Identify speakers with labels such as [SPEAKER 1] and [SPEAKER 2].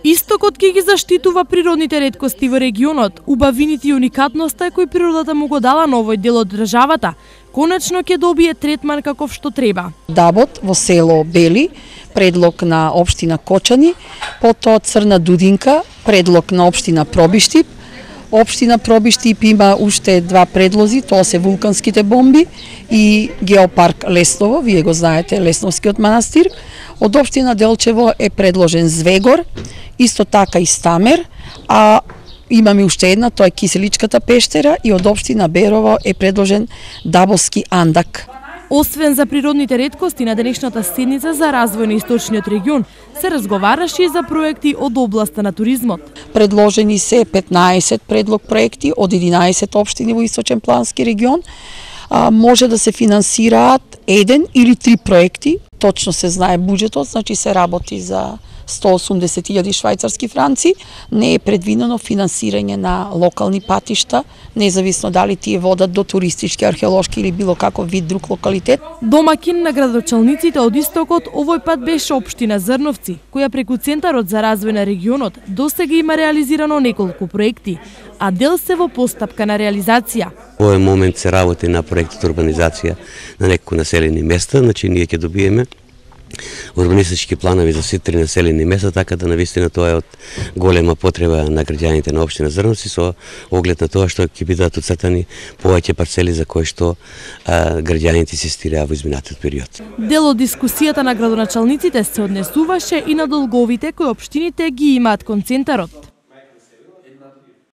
[SPEAKER 1] Истокот ќе ги заштитува природните реткости во регионот, убавините и уникатноста кој природата му го дала на овој дел од државата, конечно ќе добие третман каков што треба.
[SPEAKER 2] Дабот во село Бели, предлог на општина Кочани, потоа Црна Дудинка, предлог на општина Пробиштип. Општина Пробиштип има уште два предлози, тоа се вулканските бомби и геопарк Лесново, вие го знаете, Лесновскиот манастир. Од општина Делчево е предложен Звегор, исто така и Стамер, а имаме уште една, тоа е Киселичката пештера, и од општина Берово е предложен Дабовски андак.
[SPEAKER 1] Освен за природните реткости на денешната седница за развој на источниот регион, се разговараше и за проекти од областа на туризмот.
[SPEAKER 2] Предложени се 15 предлог проекти од 11 општини во Источен плански регион. Може да се финансираат еден или три проекти, точно се знае буџетот, значи се работи за 180.000 швајцарски франци, не е предвидено финансирање на локални патишта, независно дали тие водат до туристички, археолошки или било каков вид друг локалитет.
[SPEAKER 1] Домакин на градоначалниците од Истокот овој пат беше општина Зрновци, која преку Центарот за развој на регионот досега има реализирано неколку проекти, а дел се во постапка на реализација.
[SPEAKER 3] Во овој момент се работи на проектот урбанизација на неколку населени места, значи ние ќе добиеме урбанистички планови за сите населени места, така да навистина тоа е од голема потреба на граѓаните на општина Зрновци, со оглед на тоа што ќе бидат оцртани повеќе парцели за кои што граѓаните се стираа во изминатиот период.
[SPEAKER 1] Дел од дискусијата на градоначалниците се однесуваше и на долговите кои општините ги имаат кон Центарот.